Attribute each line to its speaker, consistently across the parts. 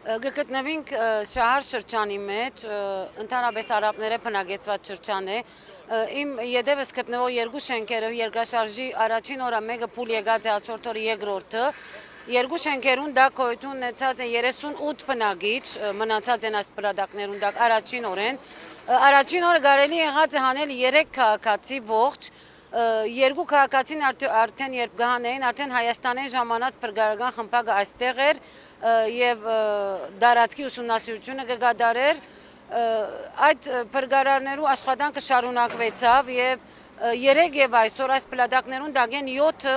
Speaker 1: Գտնվենք շահար շրջանի մեջ, ընդհանրապես արաբները բնակեցված շրջան է, իմ ետևս գտնվող երկու շենքերը երկրաշարժի առաջին օրը մեկը փուլ եկած է, հաջորդ օրը երկրորդը, երկու շենքերուն դա գոյություն ունեցած է 38 բնակիչ, մնացած են այս բլադակներուն դա առաջին օրեն, առաջին օրը կարելի եղած է հանել 3 քաղաքացի ողջ, երկու քաղաքացին արդեն երբ գահանեին, արդեն Հայաստանի ժամանած փրկարարական խմբակը այստեղ էր եւ դարածքի ուսումնասիրությունը կգադարեր, այդ փրկարարներու աշխատանքը շարունակվեցավ եւ երեք եւ այսօր այս պլադակներուն դագեն 7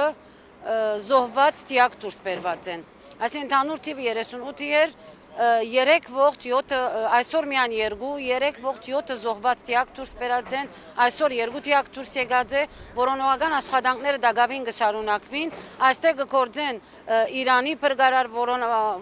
Speaker 1: զոհված տիակ դուրս բերված են, այսինքն ընդհանուր թիվը 38 էր, 3 ողջ 7 այսօր միայն 2 3 ողջ 7 զոհված տիակ դուրս բերած են, այսօր 2 տիակ դուրս եկած է, որոնողական աշխատանքները դակավին կշարունակվին, այստեղ կգործեն Իրանի փրկարար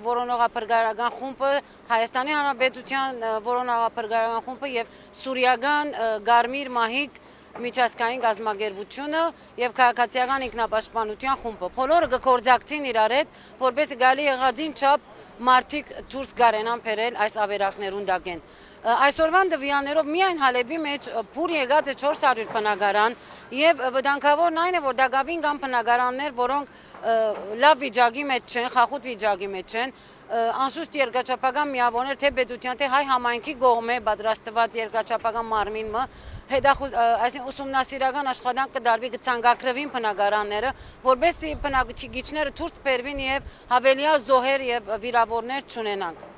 Speaker 1: որոնողափրկարարական խումբը, Հայաստանի Հանրապետության որոնողափրկարարական խումբը եւ Սուրիական Գարմիր Մահիկ միջազգային գազམ་ագերբությունը եւ քաղաքացիական ինքնապաշտպանության խումբը։ Բոլորը կգործակցին իրար հետ, որպես գալի եղածին չափ մարդիկ դուրս գարենան բերել այս ավերակներուն դակեն։ Այսօրվան դվյաններով միայն Հալեբի մեջ փուր եկած է 400 բնակարան եւ վտանգավորն այն է, որ դակավին կան բնակարաններ, որոնք լավ վիճակի մեջ չեն, խախուտ վիճակի մեջ են, անշուշտ երկրաչափական միավորներ թե պետության թե հայ համայնքի կողմէ պատրաստված երկրաչափական մարմինը այսինքն ուսումնասիրական աշխատանք կդարվի կցանկագրվին բնակարանները, որովհետեւ բնակիչները դուրս բերվին եւ հավելյալ զոհեր եւ վիրավորներ չունենանք։